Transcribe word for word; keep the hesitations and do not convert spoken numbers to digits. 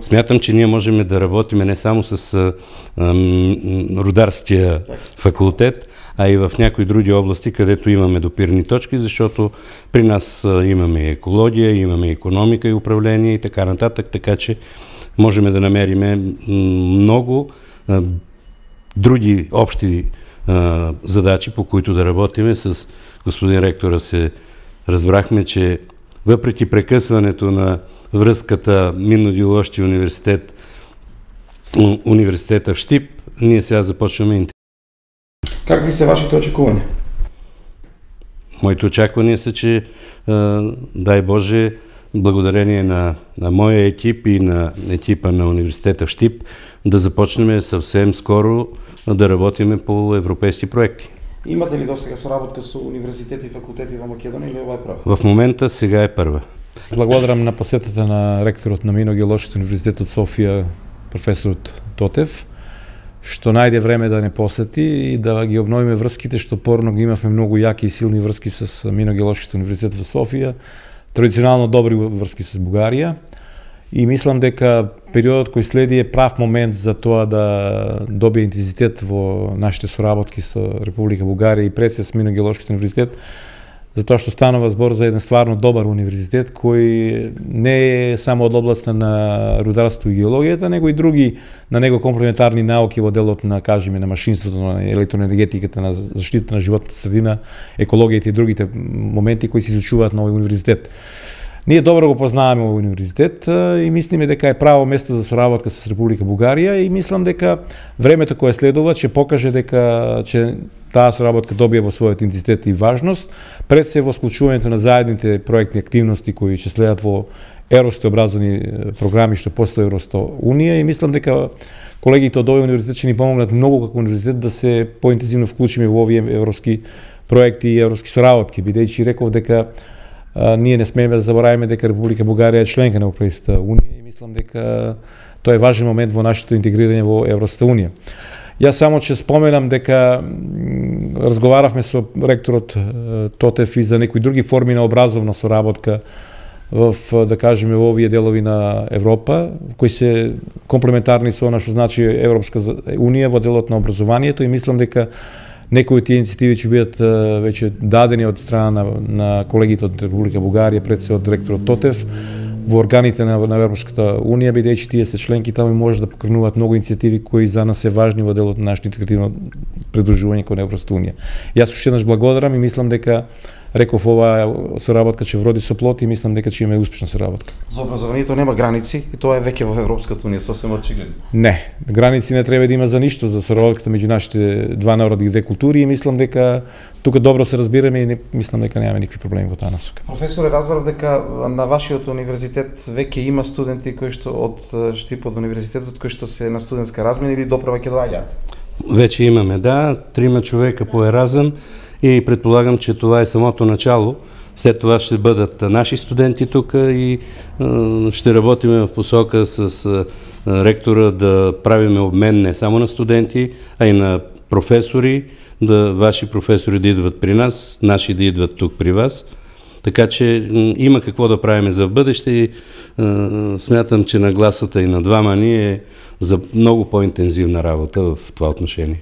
смятам, че ние можем да работим не само с а, а, рударския факултет, а и в някои други области, където имаме допирни точки, защото при нас а, имаме екология, имаме икономика и управление и така нататък, така че можем да намерим много а, други общи а, задачи, по които да работиме. С господин ректора се разбрахме, че въпреки прекъсването на връзката Минно-геоложки университет, университета в Щип, ние сега започваме. Какви са вашите очакувания? Моите очаквания са, че дай Боже, благодарение на, на моя екип и на екипа на университета в Щип, да започнем съвсем скоро да работиме по европейски проекти. Имате ли досега соработка со универзитети и факултети во Македонија или ова е прва? В момента сега е първа. Благодарам на посетата на ректорот на Минно-геоложки универзитет од Софија, професорот Тотев, што најде време да не посети и да ги обновиме врските, што порно ги имавме многу јаки и силни врски со Минно-геоложки универзитет во Софија, традиционално добри врски со Бугарија. И мислам дека периодот кој следи е прав момент за тоа да добие интензитет во нашите соработки со Република Бугарија и пред се с Минно-геоложки универзитет, затоа што станува збор за еден стварно добар универзитет кој не е само од областа на рударство и геологијата, него и други на него комплементарни науки во делот на, кажеме, на машинството, на електроенергетиката, на заштита на животната средина, екологијата и другите моменти кои се изучуваат на овој универзитет. Ние добро го познаваме овој универзитет и мислиме дека е право место за соработка со Република Бугарија и мислам дека времето кое следува ќе покаже дека ќе таа соработка добие во својот интензитет и важност, пред се во склучувањето на заедните проектни активности кои ќе следат во европски образовни програми што постои Европска унија и мислам дека колегите од овој универзитет ќе ни помогнат многу како универзитет да се поинтензивно вклучиме во овие европски проекти и европски соработки, бидејќи реков дека а, ние не смееме да забораваме дека Република Бугарија е членка на Европската унија и мислам дека тоа е важен момент во нашето интегрирање во Европската унија. Јас само ќе споменам дека разговаравме со ректорот Тотев и за некои други форми на образовна соработка в, да кажеме, во овие делови на Европа, кои се комплементарни со она што значи Европска унија во делот на образованието и мислам дека некои од тие инициативи ќе бидат веќе дадени од страна на, на колегите од Република Бугарија, пред се од ректорот Тотев, во органите на, на Европската унија, бидејќи тие се членки таму и може да покренуваат многу инициативи кои за нас се важни во делот на нашето интегративно придружување кон Европската унија. Јас уште еднаш благодарам и мислам дека реков оваа соработка ќе вроди со плод и мислам дека ќе имаме успешна соработка. За образованието нема граници и тоа е веќе во Европската унија сосем очигледно. Не, граници не треба да има за ништо за соработката меѓу нашите два народи и две култури и мислам дека тука добро се разбираме и не, мислам дека немаме никакви проблеми во таа насока. Професоре, разбрав дека на вашиот универзитет веќе има студенти кои што од Штип од универзитетот кои што се на студентска размена или доправа ќе доаѓаат. Вече имаме, да, трима човека по Еразъм и предполагам, че това е самото начало. След това ще бъдат наши студенти тук и е, ще работим в посока с е, ректора да правим обмен не само на студенти, а и на професори, да ваши професори да идват при нас, наши да идват тук при вас. Така че е, има какво да правим за в бъдеще и е, смятам, че нагласата и на двама ни е за много по-интензивна работа в това отношение.